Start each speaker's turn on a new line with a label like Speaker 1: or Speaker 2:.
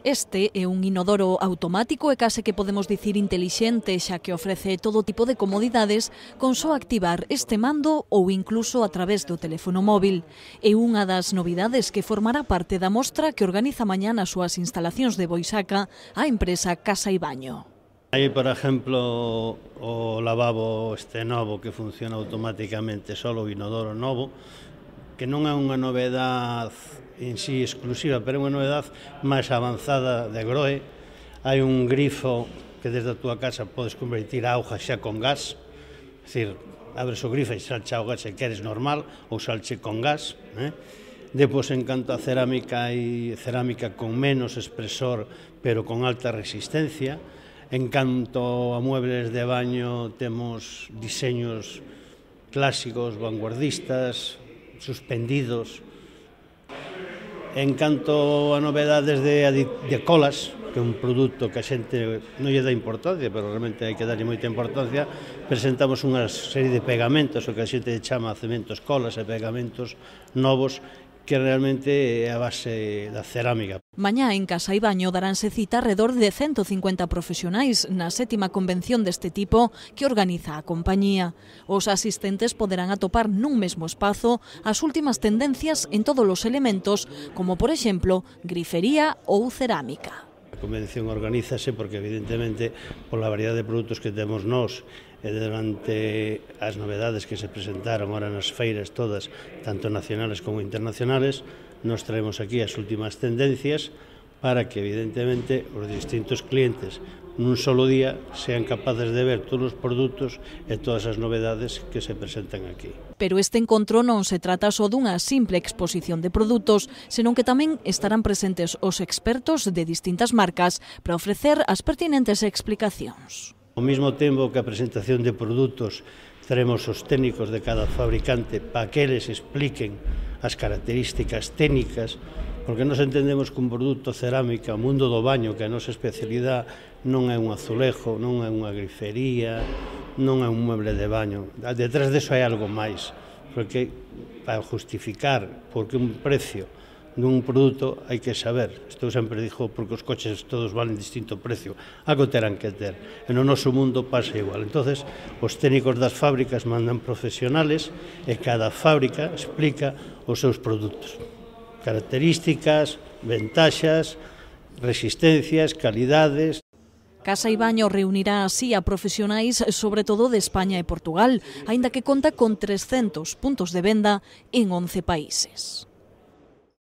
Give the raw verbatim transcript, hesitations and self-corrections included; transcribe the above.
Speaker 1: Este é un inodoro automático e case que podemos dicir intelixente, xa que ofrece todo tipo de comodidades con só activar este mando ou incluso a través do teléfono móvil. É unha das novidades que formará parte da mostra que organiza mañá nas súas instalacións de Boisaca a empresa Casa e Baño.
Speaker 2: Hai, por exemplo, o lavabo este novo que funciona automáticamente, solo o inodoro novo, que non é unha novedade en sí exclusiva, pero é unha novedade máis avanzada de Groe. Hai un grifo que desde a túa casa podes convertir a auga xa con gas, é dicir, abres o grifo e salcha o gas se queres normal ou salche con gas. Eh? Depois, en canto a cerámica, hai cerámica con menos espesor, pero con alta resistencia. En canto a muebles de baño, temos diseños clásicos, vanguardistas, suspendidos. En canto a novedades de, de colas, que é un produto que a xente non lle dá importancia, pero realmente hai que darlle moita importancia, presentamos unha serie de pegamentos, o que a xente chama cementos colas e pegamentos novos, que realmente é a base da cerámica.
Speaker 1: Mañá en Casa e Baño daránse cita alrededor de ciento cincuenta profesionais na sétima convención deste tipo que organiza a compañía. Os asistentes poderán atopar nun mesmo espazo as últimas tendencias en todos os elementos, como por exemplo, grifería ou cerámica.
Speaker 2: A convención organízase porque evidentemente pola variedade de produtos que temos nós e durante as novedades que se presentaron ahora nas feiras todas, tanto nacionales como internacionales, nos traemos aquí as últimas tendencias para que evidentemente os distintos clientes nun solo día sean capaces de ver todos os produtos e todas as novedades que se presentan aquí.
Speaker 1: Pero este encontro non se trata só dunha simple exposición de produtos, senón que tamén estarán presentes os expertos de distintas marcas para ofrecer as pertinentes explicacións.
Speaker 2: Ao mesmo tempo que a presentación de produtos, teremos os técnicos de cada fabricante para que eles expliquen as características técnicas, porque nos entendemos que un produto cerámica, o mundo do baño, que é a nosa especialidade, non é un azulejo, non é unha grifería, non é un mueble de baño. Detrás deso hai algo máis, porque para justificar porque un precio dun produto hai que saber. Isto sempre dixo porque os coches todos valen distinto precio, algo terán que ter. E no noso mundo pasa igual. Entonces, os técnicos das fábricas mandan profesionales e cada fábrica explica os seus produtos. Características, ventaxas, resistencias, calidades.
Speaker 1: Casa e Baño reunirá así a profesionais sobre todo de España e Portugal, aínda que conta con trescentos puntos de venda en once países.